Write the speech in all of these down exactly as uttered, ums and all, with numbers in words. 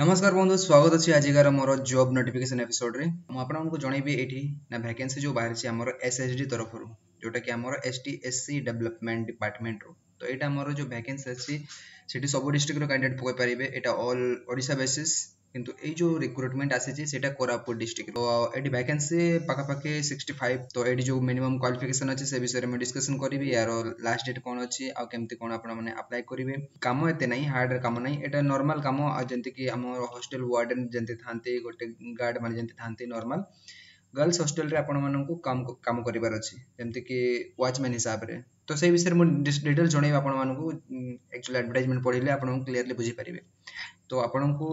ନମସ୍କାର ବନ୍ଧୁ ସ୍ୱାଗତ ଅଛି ଆଜିକାର ମୋର ଜବ୍ ନୋଟିଫିକେସନ୍ ଏପିସୋଡ଼ରେ ମୁଁ ଆପଣଙ୍କୁ ଜଣେଇବି ଏଇଠି ନା ଭ୍ୟାକେନ୍ସି ଯେଉଁ ବାହାରିଛି ଆମର ଏସ୍ ଏସ୍ ଡି ତରଫରୁ ଯେଉଁଟାକି ଆମର S T S C development ଡିପାର୍ଟମେଣ୍ଟରୁ ତ ଏଇଟା ଆମର ଯେଉଁ ଭ୍ୟାକେନ୍ସି ଅଛି ସେଠି ସବୁ ଡିଷ୍ଟ୍ରିକ୍ଟର କ୍ୟାଣ୍ଡିଡେଟ୍ ପକାଇ ପାରିବେ ଏଇଟା ଅଲ୍ ଓଡ଼ିଶା ବେସିସ୍ କିନ୍ତୁ ଏଇ ଯେଉଁ ରିକ୍ରୁଟମେଣ୍ଟ ଆସିଛି ସେଇଟା କୋରାପୁଟ ଡିଷ୍ଟ୍ରିକ୍ଟ ତ ଏଠି ଭ୍ୟାକେନ୍ସି ପାଖାପାଖି ସିକ୍ସଟି ଫାଇଭ୍ ତ ଏଠି ଯେଉଁ ମିନିମମ୍ କ୍ୱାଲିଫିକେସନ୍ ଅଛି ସେ ବିଷୟରେ ମୁଁ ଡିସ୍କସନ୍ କରିବି ୟାର ଲାଷ୍ଟ ଡେଟ୍ କ'ଣ ଅଛି ଆଉ କେମିତି କ'ଣ ଆପଣମାନେ ଆପ୍ଲାଏ କରିବେ କାମ ଏତେ ନାହିଁ ହାର୍ଡ କାମ ନାହିଁ ଏଇଟା ନର୍ମାଲ କାମ ଆଉ ଯେମିତିକି ଆମର ହଷ୍ଟେଲ ୱାର୍ଡେନ୍ ଯେମିତି ଥାନ୍ତି ଗୋଟେ ଗାର୍ଡ ମାନେ ଯେମିତି ଥାନ୍ତି ନର୍ମାଲ ଗର୍ଲସ ହଷ୍ଟେଲରେ ଆପଣମାନଙ୍କୁ କାମ କାମ କରିବାର ଅଛି ଯେମିତିକି ୱାଚମ୍ୟାନ୍ ହିସାବରେ ତ ସେଇ ବିଷୟରେ ମୁଁ ଡିଟେଲ୍ସ ଜଣେଇବି ଆପଣମାନଙ୍କୁ ଆକ୍ଚୁଆଲି ଆଡ଼ଭର୍ଟାଇଜମେଣ୍ଟ ପଢ଼ିଲେ ଆପଣଙ୍କୁ କ୍ଲିୟରଲି ବୁଝିପାରିବେ ତ ଆପଣଙ୍କୁ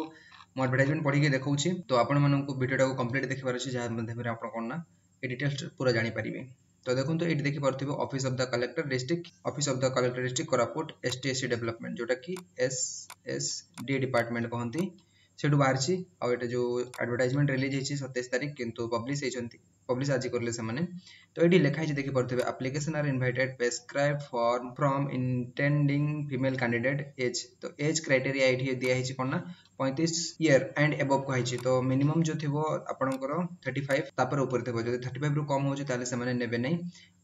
ମୁଁ ଆଡ଼ଭର୍ଟାଇଜମେଣ୍ଟ ପଢ଼ିକି ଦେଖାଉଛି ତ ଆପଣମାନଙ୍କୁ ଭିଡ଼ିଓଟାକୁ କମ୍ପ୍ଲିଟ୍ ଦେଖିବାର ଅଛି ଯାହା ମାଧ୍ୟମରେ ଆପଣ କ'ଣ ନା ଏ ଡିଟେଲ୍ସ ପୁରା ଜାଣିପାରିବେ ତ ଦେଖନ୍ତୁ ଏଇଠି ଦେଖିପାରୁଥିବେ Office of the Collector District Office of the Collector District Koraput S T S C Development ଯେଉଁଟାକି ଏସ୍ ଏସ୍ ଡି ଡିପାର୍ଟମେଣ୍ଟ କହନ୍ତି ସେଠୁ ବାହାରିଛି ଆଉ ଏଇଟା ଯେଉଁ ଆଡ଼ଭର୍ଟାଇଜମେଣ୍ଟ ରିଲିଜ୍ ହେଇଛି ସତେଇଶ ତାରିଖ କିନ୍ତୁ ପବ୍ଲିଶ ହେଇଛନ୍ତି ପବ୍ଲିଶ ଆଜି କରିଲେ ସେମାନେ ତ ଏଇଠି ଲେଖା ହେଇଛି ଦେଖିପାରୁଥିବେ application are invited prescribed form from intending female candidate age ତ ଏଜ୍ କ୍ରାଇଟେରିଆ ଏଇଠି ଦିଆହେଇଛି କ'ଣ ନା ପଇଁତିରିଶ ଇୟର ଆଣ୍ଡ ଏବଭ୍ କୁହାହେଇଛି ତ ମିନିମମ୍ ଯେଉଁ ଥିବ ଆପଣଙ୍କର ଥାର୍ଟି ଫାଇଭ୍ ତାପରେ ଉପରେ ଥିବ ଯଦି ଥାର୍ଟି ଫାଇଭ୍ରୁ କମ୍ ହେଉଛି ତାହେଲେ ସେମାନେ ନେବେ ନାହିଁ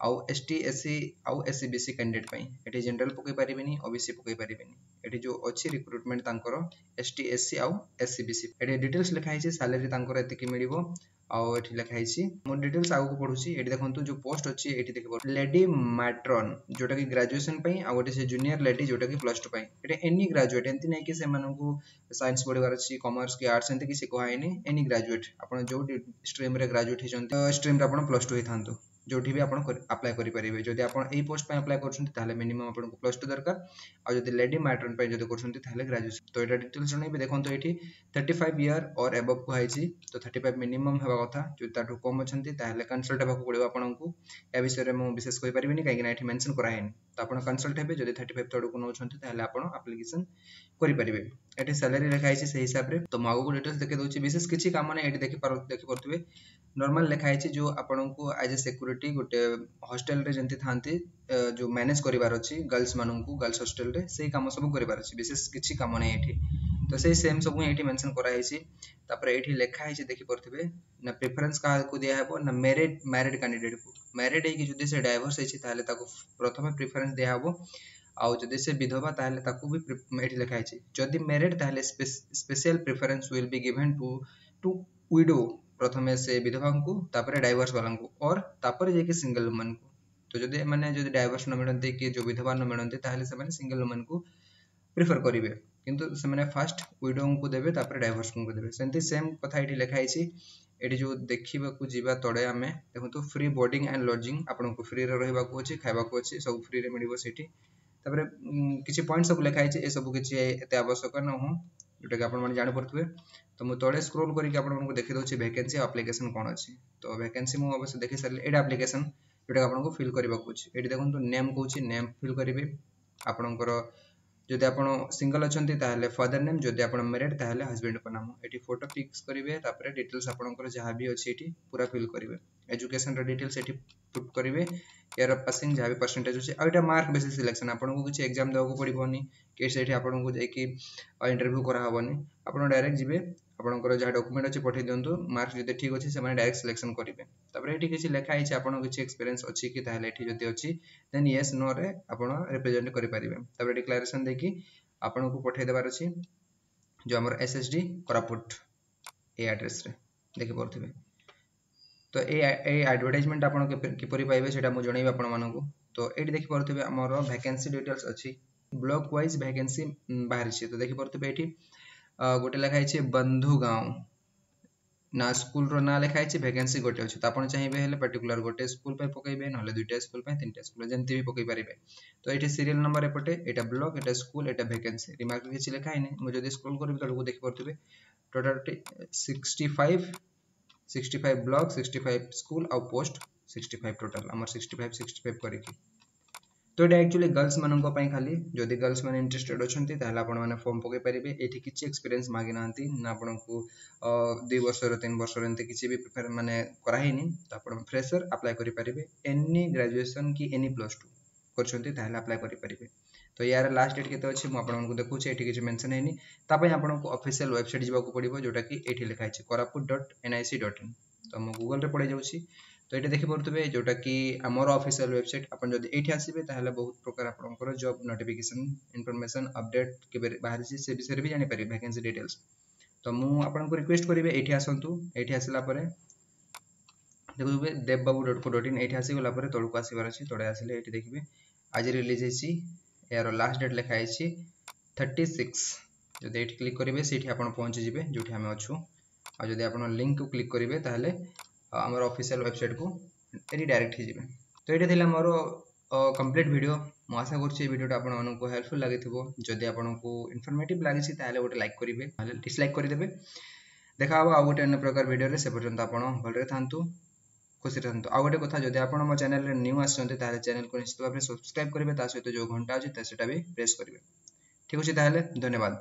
ଆଉ ଏସ୍ ଟି ଏସ୍ ସି ଆଉ S E B C candidate ପାଇଁ ଏଠି ଜେନେରାଲ ପକାଇ ପାରିବେନି ଓ ବି ସି ପକାଇ ପାରିବେନି ଏଠି ଯେଉଁ ଅଛି ରିକ୍ରୁଟମେଣ୍ଟ ତାଙ୍କର ଏସ୍ ଟି ଏସ୍ ସି ଆଉ ଏସ୍ ଇ ବି ସି ଏଠି ଡିଟେଲ୍ସ ଲେଖା ହେଇଛି ସାଲେରୀ ତାଙ୍କର ଏତିକି ମିଳିବ ଆଉ ଏଠି ଲେଖା ହେଇଛି ମୁଁ ଡିଟେଲ୍ସ ଆଗକୁ ପଢୁଛି ଏଠି ଦେଖନ୍ତୁ ଯୋଉ ପୋଷ୍ଟ ଅଛି ଏଠି ଦେଖିପାରୁ ଲେଡି ମାଟ୍ରନ୍ ଯୋଉଟାକି ଗ୍ରାଜୁଏସନ ପାଇଁ ଆଉ ଗୋଟେ ସେ ଜୁନିୟର ଲେଡି ଯୋଉଟାକି ପ୍ଲସ୍ ଟୁ ପାଇଁ ଏଠି ଏନି ଗ୍ରାଜୁଏଟ୍ ଏମିତି ନାହିଁ କି ସେମାନଙ୍କୁ ସାଇନ୍ସ ପଢିବାର ଅଛି କମର୍ସ କି ଆର୍ଟସ ଏମିତି କିଛି କୁହାହେଇନି ଏନି ଗ୍ରାଜୁଏଟ୍ ଆପଣ ଯୋଉ ଷ୍ଟ୍ରିମ୍ରେ ଗ୍ରାଜୁଏଟ୍ ହେଇଛନ୍ତି ଷ୍ଟ୍ରିମ୍ରେ ଆପଣ ପ୍ଲସ୍ ଟୁ ହେଇଥାନ୍ତୁ ଯୋଉଠି ବି ଆପଣ ଆପ୍ଲାଏ କରିପାରିବେ ଯଦି ଆପଣ ଏଇ ପୋଷ୍ଟ ପାଇଁ ଆପ୍ଲାଏ କରୁଛନ୍ତି ତାହେଲେ ମିନିମମ୍ ଆପଣଙ୍କୁ ପ୍ଲସ୍ ଟୁ ଦରକାର ଆଉ ଯଦି ଲେଡି ମାଟ୍ରନ୍ ପାଇଁ ଯଦି କରୁଛନ୍ତି ତାହେଲେ ଗ୍ରାଜୁଏସନ୍ ତ ଏଇଟା ଡିଟେଲ୍ସ ଜଣେଇବି ଦେଖନ୍ତୁ ଏଇଠି thirty five year or above କୁହାହେଇଛି ତ ଥାର୍ଟି ଫାଇଭ୍ ମିନିମମ୍ ହେବା କଥା ଯଦି ତାଠୁ କମ୍ ଅଛନ୍ତି ତାହେଲେ କନସଲ୍ଟ ହେବାକୁ ପଡ଼ିବ ଆପଣଙ୍କୁ ଏ ବିଷୟରେ ମୁଁ ବିଶେଷ କହିପାରିବିନି କାହିଁକିନା ଏଠି ମେନସନ୍ କରାହେଇନି ତ ଆପଣ କନସଲ୍ଟ ହେବେ ଯଦି ଥାର୍ଟି ଫାଇଭ୍ ତଳକୁ ନେଉଛନ୍ତି ତାହେଲେ ଆପଣ ଆପ୍ଲିକେସନ୍ କରିପାରିବେ ଏଠି ସାଲାରୀ ଲେଖା ହେଇଛି ସେଇ ହିସାବରେ ତ ମୁଁ ଆଗକୁ ଡିଟେଲ୍ସ ଦେଖେଇ ଦେଉଛି ବିଶେଷ କିଛି କାମ ନାହିଁ ଏଠି ଦେଖିପାରୁ ଦେଖିପାରୁଥିବେ ନର୍ମାଲ ଲେଖା ହେଇଛି ଯେଉଁ ଆପଣଙ୍କୁ ଆଜ୍ ଏ ସିକ୍ୟୁରିଟି ଗୋଟେ ହଷ୍ଟେଲରେ ଯେମିତି ଥାନ୍ତି ଯେଉଁ ମ୍ୟାନେଜ କରିବାର ଅଛି ଗର୍ଲସ ମାନଙ୍କୁ ଗର୍ଲସ ହଷ୍ଟେଲରେ ସେଇ କାମ ସବୁ କରିବାର ଅଛି ବିଶେଷ କିଛି କାମ ନାହିଁ ଏଠି ତ ସେଇ ସେମ୍ ସବୁ ଏଇଠି ମେନସନ୍ କରାହେଇଛି ତାପରେ ଏଇଠି ଲେଖା ହେଇଛି ଦେଖିପାରୁଥିବେ ନା ପ୍ରିଫରେନ୍ସ କାହାକୁ ଦିଆହେବ ନା ମ୍ୟାରିଡ୍ ମ୍ୟାରିଡ୍ କ୍ୟାଣ୍ଡିଡେଟ୍କୁ ମ୍ୟାରିଡ୍ ହେଇକି ଯଦି ସେ ଡାଇଭର୍ସ ହେଇଛି ତାହେଲେ ତାକୁ ପ୍ରଥମେ ପ୍ରିଫରେନ୍ସ ଦିଆହେବ ଆଉ ଯଦି ସେ ବିଧବା ତାହେଲେ ତାକୁ ବି ଏଠି ଲେଖା ହେଇଛି ଯଦି ମ୍ୟାରିଡ୍ ତାହେଲେ special preference will be given to to widow ପ୍ରଥମେ ସେ ବିଧବାଙ୍କୁ ତାପରେ ଡାଇଭର୍ସ ବାଲାଙ୍କୁ ଅର୍ ତାପରେ ଯାଇକି ସିଙ୍ଗଲ ଓମେନକୁ ତ ଯଦି ଏମାନେ ଯଦି ଡାଇଭର୍ସ ନ ମିଳନ୍ତି କି ଯେଉଁ ବିଧବା ନ ମିଳନ୍ତି ତାହେଲେ ସେମାନେ ସିଙ୍ଗଲ ଓମେନକୁ ପ୍ରିଫର କରିବେ କିନ୍ତୁ ସେମାନେ ଫାଷ୍ଟ ୱିଡୋଙ୍କୁ ଦେବେ ତାପରେ ଡାଇଭର୍ସଙ୍କୁ ଦେବେ ସେମିତି ସେମ୍ କଥା ଏଇଠି ଲେଖା ହେଇଛି ଏଠି ଯେଉଁ ଦେଖିବାକୁ ଯିବା ତଳେ ଆମେ ଦେଖନ୍ତୁ ଫ୍ରି ବୋର୍ଡିଂ ଆଣ୍ଡ ଲଜିଂ ଆପଣଙ୍କୁ ଫ୍ରିରେ ରହିବାକୁ ଅଛି ଖାଇବାକୁ ଅଛି ସବୁ ଫ୍ରିରେ ମିଳିବ ସେଇଠି ତାପରେ କିଛି ପଏଣ୍ଟ ସବୁ ଲେଖା ହେଇଛି ଏସବୁ କିଛି ଏତେ ଆବଶ୍ୟକ ନୁହଁ ଯେଉଁଟାକି ଆପଣମାନେ ଜାଣିପାରୁଥିବେ ତ ମୁଁ ତଳେ ସ୍କ୍ରୋଲ୍ କରିକି ଆପଣମାନଙ୍କୁ ଦେଖେଇ ଦେଉଛି ଭ୍ୟାକେନ୍ସି ଆଉ ଆପ୍ଲିକେସନ୍ କ'ଣ ଅଛି ତ ଭ୍ୟାକେନ୍ସି ମୁଁ ଅବଶ୍ୟ ଦେଖି ସାରିଲି ଏଇଟା ଆପ୍ଲିକେସନ୍ ଯେଉଁଟାକି ଆପଣଙ୍କୁ ଫିଲ୍ କରିବାକୁ ଅଛି ଏଇଠି ଦେଖନ୍ତୁ ନେମ୍ କହୁଛି ନେମ୍ ଫିଲ୍ କରିବେ ଆପଣଙ୍କର ଯଦି ଆପଣ ସିଙ୍ଗଲ ଅଛନ୍ତି ତାହେଲେ ଫାଦର ନେମ୍ ଯଦି ଆପଣ ମ୍ୟାରିଡ୍ ତାହେଲେ ହଜବେଣ୍ଡଙ୍କ ନାମ ଏଠି ଫଟୋ ଫିକ୍ସ କରିବେ ତାପରେ ଡିଟେଲ୍ସ ଆପଣଙ୍କର ଯାହା ବି ଅଛି ଏଠି ପୁରା ଫିଲ୍ କରିବେ ଏଜୁକେସନର ଡିଟେଲ୍ସ ଏଠି ପୁଟ୍ କରିବେ ଇୟର ଅଫ୍ ପାସିଂ ଯାହା ବି ପରସେଣ୍ଟେଜ ଅଛି ଆଉ ଏଇଟା ମାର୍କ ବେସିସ୍ ସିଲେକ୍ସନ୍ ଆପଣଙ୍କୁ କିଛି ଏକ୍ଜାମ୍ ଦେବାକୁ ପଡ଼ିବନି କି ସେଇଠି ଆପଣଙ୍କୁ ଯାଇକି ଇଣ୍ଟରଭ୍ୟୁ କରାହେବନି ଆପଣ ଡାଇରେକ୍ଟ ଯିବେ ଆପଣଙ୍କର ଯାହା ଡକୁମେଣ୍ଟ ଅଛି ପଠାଇ ଦିଅନ୍ତୁ ମାର୍କ ଯଦି ଠିକ୍ ଅଛି ସେମାନେ ଡାଇରେକ୍ଟ ସିଲେକ୍ସନ୍ କରିବେ ତାପରେ ଏଠି କିଛି ଲେଖା ହେଇଛି ଆପଣଙ୍କ କିଛି ଏକ୍ସପିରିଏନ୍ସ ଅଛି କି ତାହେଲେ ଏଠି ଯଦି ଅଛି ଦେନ୍ ୟେସ୍ ନୋରେ ଆପଣ ରିପ୍ରେଜେଣ୍ଟ କରିପାରିବେ ତାପରେ ଡିକ୍ଲାରେସନ୍ ଦେଇକି ଆପଣଙ୍କୁ ପଠାଇ ଦେବାର ଅଛି ଯେଉଁ ଆମର ଏସ୍ ଏସ୍ ଡି କୋରାପୁଟ ଏଇ ଆଡ୍ରେସରେ ଦେଖିପାରୁଥିବେ ତ ଏଇ ଏଇ ଆଡ଼ଭର୍ଟାଇଜମେଣ୍ଟ ଆପଣ କିପରି ପାଇବେ ସେଇଟା ମୁଁ ଜଣେଇବି ଆପଣମାନଙ୍କୁ ତ ଏଇଠି ଦେଖିପାରୁଥିବେ ଆମର ଭ୍ୟାକେନ୍ସି ଡିଟେଲ୍ସ ଅଛି ବ୍ଲକ ୱାଇଜ୍ ଭ୍ୟାକେନ୍ସି ବାହାରିଛି ତ ଦେଖିପାରୁଥିବେ ଏଇଠି ଗୋଟେ ଲେଖା ହେଇଛି ବନ୍ଧୁଗାଁव ନା ସ୍କୁଲର ନାଁ ଲେଖା ହେଇଛି ଭ୍ୟାକେନ୍ସି ଗୋଟେ ଅଛି ତ ଆପଣ ଚାହିଁବେ ହେଲେ ପର୍ଟିକୁଲାର ଗୋଟେ ସ୍କୁଲ ପାଇଁ ପକେଇବେ ନହେଲେ ଦୁଇଟା ସ୍କୁଲ ପାଇଁ ତିନିଟା ସ୍କୁଲ ଯେମିତି ବି ପକେଇ ପାରିବେ ତ ଏଇଠି ସିରିଏଲ ନମ୍ବର ଏପଟେ ଏଇଟା ବ୍ଲକ ଏଇଟା ସ୍କୁଲ ଏଇଟା ଭ୍ୟାକେନ୍ସି ରିମାର୍କ କିଛି ଲେଖା ହେଇନି ମୁଁ ଯଦି ସ୍କ୍ରୋଲ କରିବି ତଳକୁ ଦେଖିପାରୁଥିବେ total sixty five sixty five block sixty five school ଆଉ ପୋଷ୍ଟ ସିକ୍ସଟି ଫାଇଭ୍ ଟୋଟାଲ ଆମର ସିକ୍ସଟି ଫାଇଭ୍ ସିକ୍ସଟି ଫାଇଭ୍ କରିକି ତ ଏଇଟା ଆକ୍ଚୁଆଲି ଗର୍ଲସ ମାନଙ୍କ ପାଇଁ ଖାଲି ଯଦି ଗର୍ଲସ ମାନେ ଇଣ୍ଟରେଷ୍ଟେଡ୍ ଅଛନ୍ତି ତାହେଲେ ଆପଣମାନେ ଫର୍ମ ପକାଇ ପାରିବେ ଏଇଠି କିଛି ଏକ୍ସପିରିଏନ୍ସ ମାଗିନାହାନ୍ତି ନା ଆପଣଙ୍କୁ ଦୁଇ ବର୍ଷର ତିନି ବର୍ଷର ଏମିତି କିଛି ବି ପ୍ରିଫର ମାନେ କରାହେଇନି ତ ଆପଣ ଫ୍ରେସର ଆପ୍ଲାଏ କରିପାରିବେ ଏନି ଗ୍ରାଜୁଏସନ୍ କି ଏନି ପ୍ଲସ୍ ଟୁ କରିଛନ୍ତି ତାହେଲେ ଆପ୍ଲାଏ କରିପାରିବେ ତ ୟାର ଲାଷ୍ଟ ଡେଟ୍ କେତେ ଅଛି ମୁଁ ଆପଣଙ୍କୁ ଦେଖାଉଛି ଏଠି କିଛି ମେନସନ୍ ହେଇନି ତା ପାଇଁ ଆପଣଙ୍କୁ ଅଫିସିଆଲ ୱେବସାଇଟ୍ ଯିବାକୁ ପଡ଼ିବ ଯେଉଁଟାକି ଏଇଠି ଲେଖା ହେଇଛି Koraput dot N I C dot in ତ ମୁଁ ଗୁଗଲରେ ପଳେଇ ଯାଉଛି ତ ଏଇଠି ଦେଖିପାରୁଥିବେ ଯେଉଁଟାକି ଆମର ଅଫିସିଆଲ ୱେବସାଇଟ୍ ଆପଣ ଯଦି ଏଇଠି ଆସିବେ ତାହେଲେ ବହୁତ ପ୍ରକାର ଆପଣଙ୍କର ଜବ୍ ନୋଟିଫିକେସନ୍ ଇନଫର୍ମେସନ୍ ଅପଡେଟ୍ କେବେ ବାହାରିଛି ସେ ବିଷୟରେ ବି ଜାଣିପାରିବେ ଭ୍ୟାକେନ୍ସି ଡିଟେଲ୍ସ ତ ମୁଁ ଆପଣଙ୍କୁ ରିକ୍ୱେଷ୍ଟ କରିବି ଏଇଠି ଆସନ୍ତୁ ଏଇଠି ଆସିଲା ପରେ ଦେଖୁଥିବେ ଦେବବାବୁ ଡଟ୍ କୋ ଡଟ୍ ଇନ୍ ଏଇଠି ଆସିଗଲା ପରେ ତଳକୁ ଆସିବାର ଅଛି ତଳେ ଆସିଲେ ଏଇଠି ଦେଖିବେ ଆଜି ରିଲିଜ୍ ହେଇଛି ଏହାର ଲାଷ୍ଟ ଡେଟ୍ ଲେଖା ହେଇଛି ଥାର୍ଟି ସିକ୍ସ ଯଦି ଏଇଠି କ୍ଲିକ୍ କରିବେ ସେଇଠି ଆପଣ ପହଞ୍ଚିଯିବେ ଯେଉଁଠି ଆମେ ଅଛୁ ଆଉ ଯଦି ଆପଣ ଲିଙ୍କକୁ କ୍ଲିକ୍ କରିବେ ତାହେଲେ ଆମର ଅଫିସିଆଲ ୱେବସାଇଟ୍କୁ ରିଡାଇରେକ୍ଟ ହେଇଯିବେ ତ ଏଇଟା ଥିଲା ମୋର କମ୍ପ୍ଲିଟ୍ ଭିଡ଼ିଓ ମୁଁ ଆଶା କରୁଛି ଏ ଭିଡ଼ିଓଟା ଆପଣମାନଙ୍କୁ ହେଲ୍ପଫୁଲ୍ ଲାଗିଥିବ ଯଦି ଆପଣଙ୍କୁ ଇନଫର୍ମେଟିଭ୍ ଲାଗିଛି ତାହେଲେ ଗୋଟେ ଲାଇକ୍ କରିବେ ନହେଲେ ଡିସଲାଇକ୍ କରିଦେବେ ଦେଖା ହେବ ଆଉ ଗୋଟେ ଅନ୍ୟ ପ୍ରକାର ଭିଡ଼ିଓରେ ସେ ପର୍ଯ୍ୟନ୍ତ ଆପଣ ଭଲରେ ଥାନ୍ତୁ ଖୁସିରେ ଥାନ୍ତୁ ଆଉ ଗୋଟେ କଥା ଯଦି ଆପଣ ମୋ ଚ୍ୟାନେଲରେ ନ୍ୟୁ ଆସିଛନ୍ତି ତାହେଲେ ଚ୍ୟାନେଲକୁ ନିଶ୍ଚିତ ଭାବରେ ସବସ୍କ୍ରାଇବ୍ କରିବେ ତା ସହିତ ଯେଉଁ ଘଣ୍ଟା ଅଛି ସେଟା ବି ପ୍ରେସ୍ କରିବେ ଠିକ୍ ଅଛି ତାହେଲେ ଧନ୍ୟବାଦ